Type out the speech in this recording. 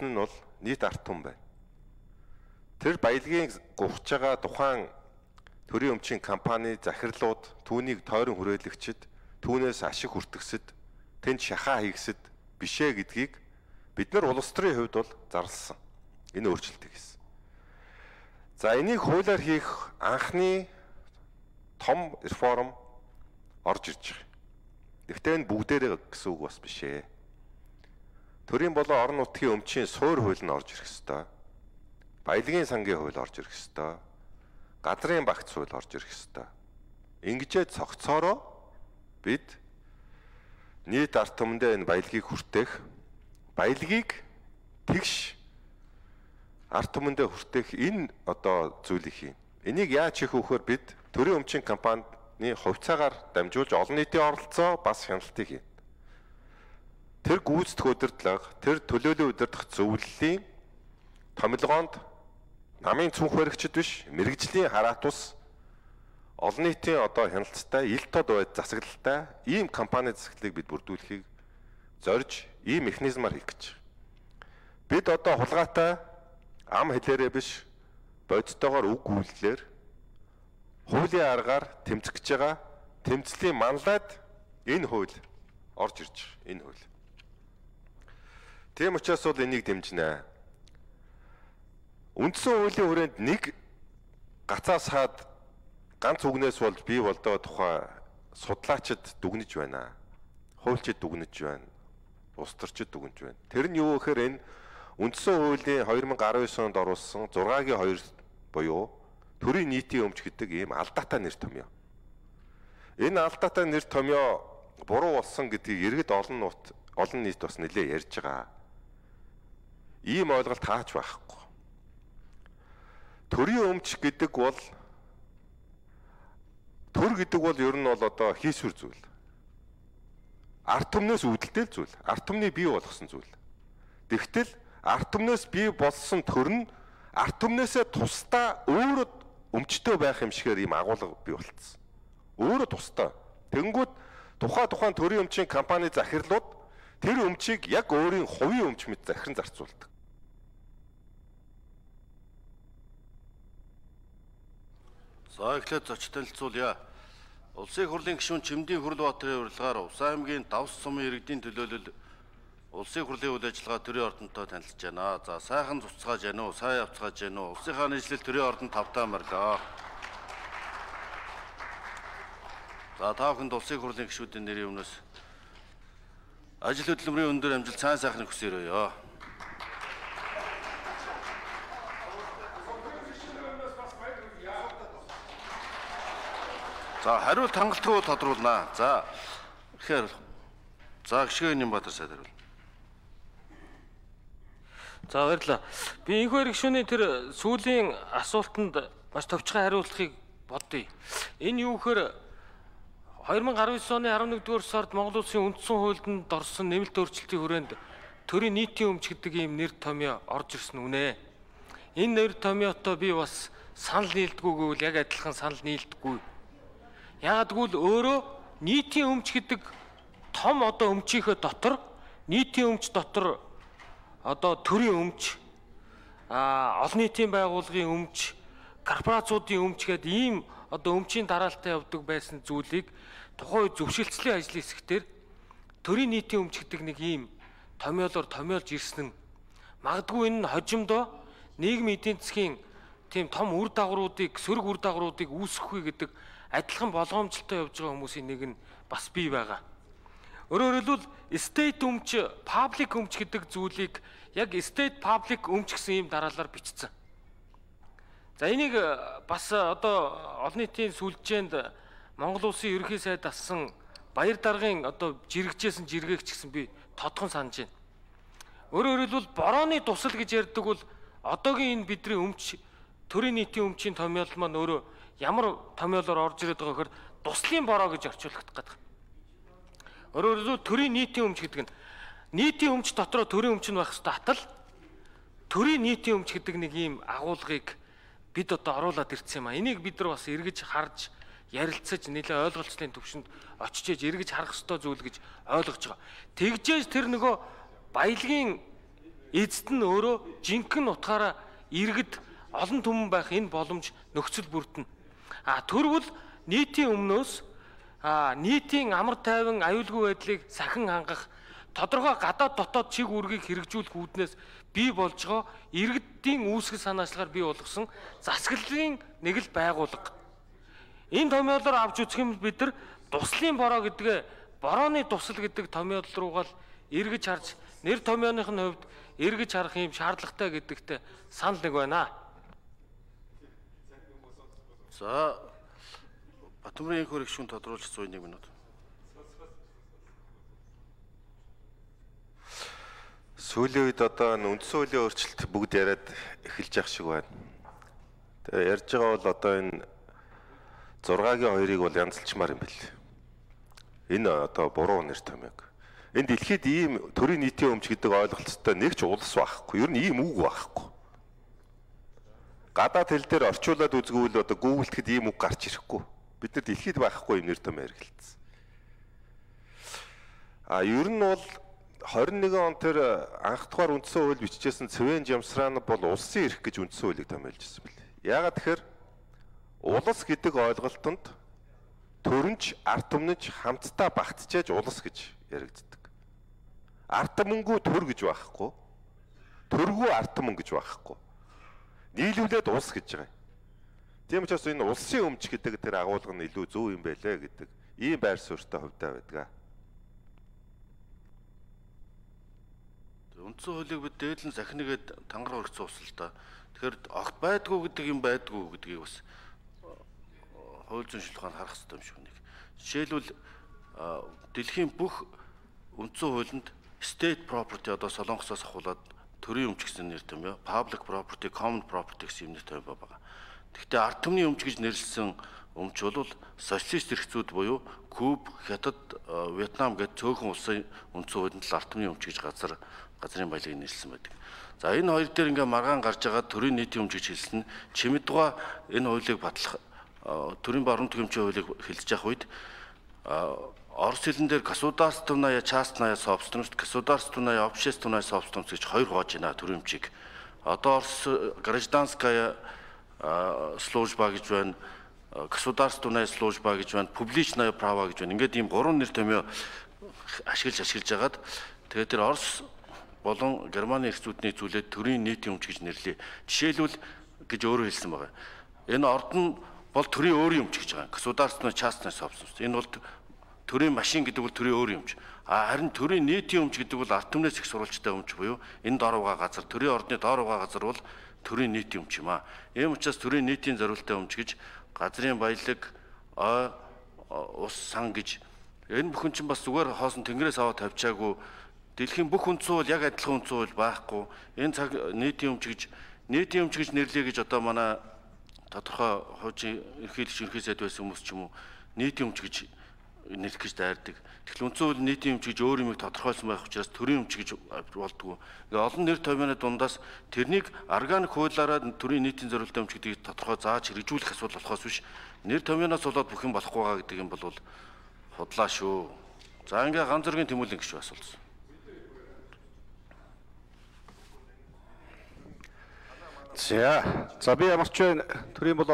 нь бол нийт ард түмэн байна. Тэр баялагын гуйж байгаа тухайн төрийн өмчийн компани захирлууд, түүнийг тойрон хүрээлэгчид, түүнээс ашиг хүртгсэд, тэнд шахаа хийгсэд бишээ гэдгийг бид нар улс төрийн хувьд бол зарласан. Энэ өөрчлөлтийг хийсэн. За энийг хуулиар хийх анхны том реформ орж ирж байгаа. Гэхдээ энэ бүгдээрээ гэсэн үг бас биш ээ. Төрийн болон орон нутгийн өмчийн суур хууль нь орж ирэх ёстой. Баялагын сангийн хууль орж ирэх ёстой. Газрын багц хууль орж ирэх ёстой. Ингэжээ цогцоороо бид нийт ард түмэндээ энэ баялагийг хүртээх, баялагийг тэгш ард түмэндээ хүртээх энэ одоо зүйлийг хийн. Энийг яаж хийх вөхөр бид төрийн өмчийн компанид хувьцаагаар дамжуулж олон нийтийн оролцоо бас хяналтыг хийнэ. Тэр гүйцэтгэх удирдлага, тэр төлөөллийн удирдах зөвлөлийн томилгоонд намын цүнх баригчид биш, мэрэгжлийн хараат ус олон нийтийн одоо хяналттай, ил тод байд засаглалтай ийм компани засаглалыг бид бүрдүүлэхийг зорж ийм механизмаар хийх гэж. Бид одоо хулгайтай ам хэлээрээ биш, бодитойгоор үг үйлдэлээр хуулийн аргаар тэмцэх гэж байгаа тэмцлийн манлайд энэ хууль орж ирж байгаа. Энэ хууль. Тийм учраас бол энийг дэмжинэ. Үндсэн хуулийн хүрээнд нэг гацаас хаад ганц үгнээс бол бий болдоо тухай судлаачид дүгнэж байна. Хуульчид дүгнэж байна. Улс төрчид дүгнэж байна. Тэр нь юу гэхээр энэ үндсэн хуулийн 2019 онд оруулсан 6-гийн 2 буюу төрийн нийтийн өмч гэдэг ийм алдаатай нэр томьёо. Энэ алдаатай нэр томьёо буруу болсон гэдгийг иргэд олон нийт бас нэлээ ярьж байгаа. Ийм ойлголт хаач байхгүй. Төрийн өмч гэдэг бол төр гэдэг бол ер нь бол одоо хийсвэр зүйл. Ард түмнээс үүдэлтэй зүйл. Ард түмний бий болгосон зүйл. Тэгтэл ард түмнээс бий болсон төр нь ард түмнээсээ тусдаа өөрөө өмчтэй байх юм шигээр ийм агуулга бий болцсон. Өөрөө тусдаа. Тэнгүүд тухайн төрийн өмчийн компани захирлууд тэр өмчийг яг өөрийн хувийн өмч мэт захиран зарцуулдаг. За эхлээд зоч танилцуулъя. Улсын их хурлын гишүүн Чимдийн Хүрлбаатарын урилгаар Увсан аймгийн Давс сумын иргэдийн төлөөлөл улсын их хурлын үйл ажиллагаа төрийн ордонтой танилцж байна. За сайхан цуцгааж байна уу? Сайн явцгааж байна уу? Улсынхаа нийслэл төрийн ордонд тавтаа марлаа. За та бүхэнд улсын их хурлын гишүүдийн нэрийн өмнөөс ажил хөдөлмөрийн өндөр амжилт сайн сайхныг хүсээрэй. За хариулт хангалтгүй тодруулнаа. За тэгэхээр гишгэн Нямбатар сайд хариул. За баярлалаа. Би энэхүү гишүүний тэр сүүлийн асуултанд маш товчхон хариулахыг бодъё. Энэ юу гэхээр 2019 оны 11-р сард Монгол Улсын үндсэн хуульд орсон нэмэлт өөрчлөлтийн хүрээнд төрийн нийтийн өмч гэдэг ийм нэр томьёо орж ирсэн үнэ. Энэ нэр томьёотой би бас санал нийлдэггүй гэвэл яг адилхан санал нийлдэггүй. Яагад гэвэл өөрөө нийтийн өмч гэдэг том одоо өмчийнхөө дотор нийтийн өмч дотор одоо төрийн өмч, олон нийтийн байгууллагын өмч, корпорацуудын өмч гэдэг ийм одоо өмчийн дараалтаа явдаг байсан зүйлийг тухайн үед зөвшөлтслийн ажлын хэсгээр төрийн нийтийн өмч гэдэг нэг ийм томьёолоор томьёолж ирсэн нь магадгүй энэ нь хожимдоо нийгмийн эдийн засгийн тийм том үр дагавруудыг, сөрөг үр дагавруудыг үүсгэхгүй гэдэг адилхан болгоомжлолтой явж байгаа хүмүүсийн нэг нь бас бий байгаа. Өөрөөр хэлбэл state өмч, public өмч гэдэг зүйлийг яг state public өмч гэсэн ийм дараалалаар бичсэн. За энийг бас одоо олон нийтийн сүлжээнд Монгол Улсын ерөнхий сайд ассан баяр даргын одоо жирэгчээсэн жиргээгч гэсэн би тодхон санаж байна. Өөрөөр хэлбэл борооны тусал гэж ярьдаг бол одоогийн энэ бидний өмч, төрийн нийтийн өмчийн томьёол маань өөрөө ямар томьёолоор орж ирээд байгаа гэхээр туслын бороо гэж орчуулах гэдэг. Өөрөөр хэлбэл төрийн нийтийн өмч гэдэг нь нийтийн өмч дотроо төрийн өмч нь байх ёстой атал төрийн нийтийн өмч гэдэг нэг ийм агуулгыг бид одоо оруулаад ирсэн юм а. Энийг бид нар бас эргэж харж ярилцаж нэлээ ойлголцлын төвшөнд очиж эргэж харах ёстой зүйл гэж ойлгож байгаа. Тэгжээж тэр нөгөө баялагын эцэд нь өөрөө жинхэнэ утгаараа иргэд олон түмэн байх энэ боломж нөхцөл бүрдэнэ. Төрвөл нийтийн өмнөөс нийтийн амар тайван аюулгүй байдлыг сахин хангах тодорхой гадаад дотоод чиг үүргийг хэрэгжүүлэх үүднээс бий болж байгаа иргэдийн үүсгэл санаачлагаар бий болгосон засаглалын нэг л байгууллага. Энэ томьёолоор авч үзэх юм бид нар туслын бороо гэдгээ борооны тусал гэдэг томьёол руугаа л эргэж харж нэр томьёоных нь хувьд эргэж харах юм шаардлагатай гэдэгтээ санал нэг байна. За Батбаатарын энх хөрөг шүүн тодруулж 101 минут. Сүүлийн үед одоо үндсэн хуулийн өөрчлөлт бүгд яриад эхэлж явах шиг байна. Тэгээ ярьж байгаа бол одоо энэ 6-гийн 2-ыг бол янзлчмаар юм бэл. Энэ одоо буруу нэр томьёог. Энэ дэлхийд ийм төрийн нийтийн өмч гэдэг ойлголттой нэг ч улс байхгүй. Ер нь ийм үг байхгүй. Гадаад хэл дээр орчуулад үзгүүл одоо Google-тэд ийм үг гарч ирэхгүй. Бид нар дэлхийд байхгүй юм нэр томьёо хэрэгэлсэн. Ер нь бол 21 он тэр анх дахь үндсэн хууль бичижсэн Цэвэн Жамсраан бол улсын эрх гэж үндсэн хуулийг томьёолж ирсэн бэл. Яагаад тэгэхээр улс гэдэг ойлголтод төрөнч, ард түмнэж хамтдаа багтжээж улс гэж яригддаг. Ард түмэнгүй төр гэж байхгүй. Төргүй ард түмэн гэж байхгүй. Нийлүүлээд улс гэж байгаа. Тийм учраас энэ улсын өмч гэдэг тэр агуулга нь илүү зөв юм байлээ гэдэг ийм байр суурьтай хувьтай байдаг. Үндсэн хуулийг бид дээдлэн сахиныгээд тангар өргөцсөн ус л да. Тэгэхээр огт байдгүй гэдэг юм байдгүй гэдгийг бас хууль зүйн шилхэн харах хэрэгтэй юм шиг нэг. Жишээлбэл дэлхийн бүх үндсэн хуулинд state property одоо Солонгосоос ахуулаад төрийн өмч гэсэн нэр томьёо, public property, common property гэсэн нэр томьёо байгаа. Гэхдээ ард түмний өмч гэж нэрлсэн өмч бол социалист эрхцүүд буюу Куб, Хятад, Вьетнам гэд цөөхөн улсын үндсэн хуулинд л ард түмний өмч гэж газрын баялагийг нэрлсэн байдаг. За энэ хоёр дээр ингээ маргаан гарч байгаа төрийн нийтийн өмч гэж хэлсэн нь Чимэдуга энэ хуулийг батлах төрийн баруун төгөмчийн хуулийг хэлж явах үед орос хэлэн дээр государственная частная собственность, государственная общественная собственность гэж хоёр хувааж байна төрийн өмчийг. Одоо орос гражданская служба гэж байна, государственная служба гэж байна, публичное право гэж байна. Ингээд ийм гурван нэр томьёо ашиглаж агаад тэгээд тэр орос болон Германы эрхцүүдний зүйлээд төрийн нийтийн өмч гэж нэрлэе. Жишээлбэл гэж өөрөө хэлсэн байгаа. Энэ орд нь бол төрийн өөрийн өмч гэж байгаа. Государственная частная собственность. Энэ бол төрийн машин гэдэг бол төрийн өөрийн өмч. Харин төрийн нийтийн өмч гэдэг бол ард түмнээс их сурвалжтай өмч буюу энэ дор угаа газар, төрийн ордны дор угаа газар бол төрийн нийтийн өмч юм аа. Ийм учраас төрийн нийтийн зориулалттай өмч гэж газрын баялаг, ус, сан гэж энэ бүхэн чинь бас зүгээр хоосон тэнгэрээс аваад тавьчаагүй. Дэлхийн бүх үндсэн хууль яг адилхан үндсэн хууль байхгүй. Энэ цаг нийтийн өмч гэж нэрлэе гэж одоо манай тодорхой хуучин ерхий сайд байсан хүмүүс ч юм уу нийтийн өмч гэж нэрлэх гэж дайрдаг. Тэгэхээр үндсэн хууль нийтийн өмч гэж өөр юмыг тодорхойлсон байх учраас төрийн өмч гэж болдгоо. Ингээ олон нэр томьёоны дундаас тэрнийг органик хуулиараа төрийн нийтийн зориулалтын өмч гэдгийг тодорхой зааж хэрэгжүүлэх асуудал болохоос биш нэр томьёоноос болоод бүх юм болохгүй байгаа гэдэг юм бол худлаа шүү. За ингээ ганц зөргийн тэмүүлэн гişүү асуулсан. За би ямар ч төрийн бол